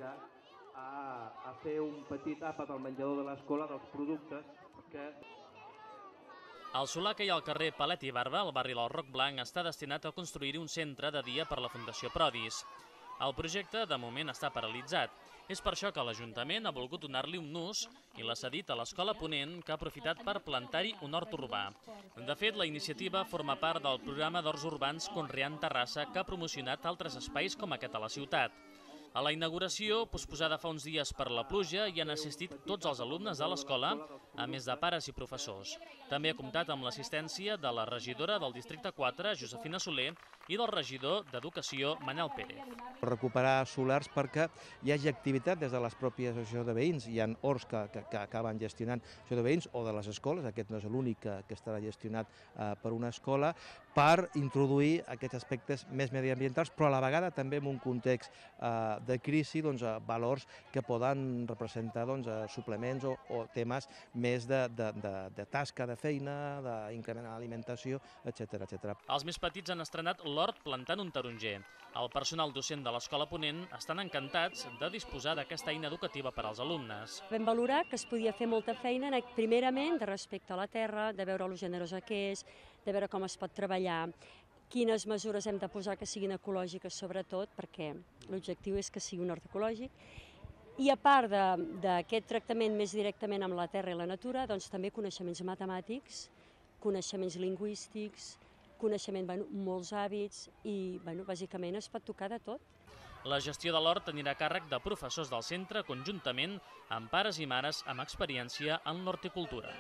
convidar a fer un petit àpat al menjador de l'escola dels productes, perquè... El solar que hi ha al carrer Palet i Barba, al barri del Roc Blanc, està destinat a construir un centre de dia per la Fundació Prodis. El projecte, de moment, està paralitzat. És per això que l'Ajuntament ha volgut donar-li un ús i l'ha cedit a l'Escola Ponent, que ha aprofitat per plantar-hi un hort urbà. De fet, la iniciativa forma part del programa d'horts urbans Conreant Terrassa, que ha promocionat altres espais com aquest a la ciutat. A la inauguració, posposada fa uns dies per la pluja, hi han assistit tots els alumnes de l'escola, a més de pares i professors. També ha comptat amb l'assistència de la regidora del Districte 4, Josefina Soler, i del regidor d'Educació, Manel Pérez. Recuperar solars perquè hi hagi activitat des de les pròpies associacions de veïns. Hi ha horts que acaben gestionant associació de veïns o de les escoles, aquest no és l'únic que estarà gestionat per una escola, per introduir aquests aspectes més mediambientals, però a la vegada també en un context de crisi, valors que poden representar suplements o temes més de tasca, de feina, d'incrementar l'alimentació, etc. Els més petits han estrenat l'hort plantant un taronger. El personal docent de l'Escola Ponent estan encantats de disposar d'aquesta eina educativa per als alumnes. Vam valorar que es podia fer molta feina, primerament, de respecte a la terra, de veure lo generosa que és, de veure com es pot treballar, quines mesures hem de posar que siguin ecològiques, sobretot, perquè l'objectiu és que sigui un hort ecològic. I a part d'aquest tractament més directament amb la terra i la natura, doncs també coneixements matemàtics, coneixements lingüístics, coneixement, molts hàbits i, bàsicament, es pot tocar de tot. La gestió de l'hort anirà a càrrec de professors del centre conjuntament amb pares i mares amb experiència en l'horticultura.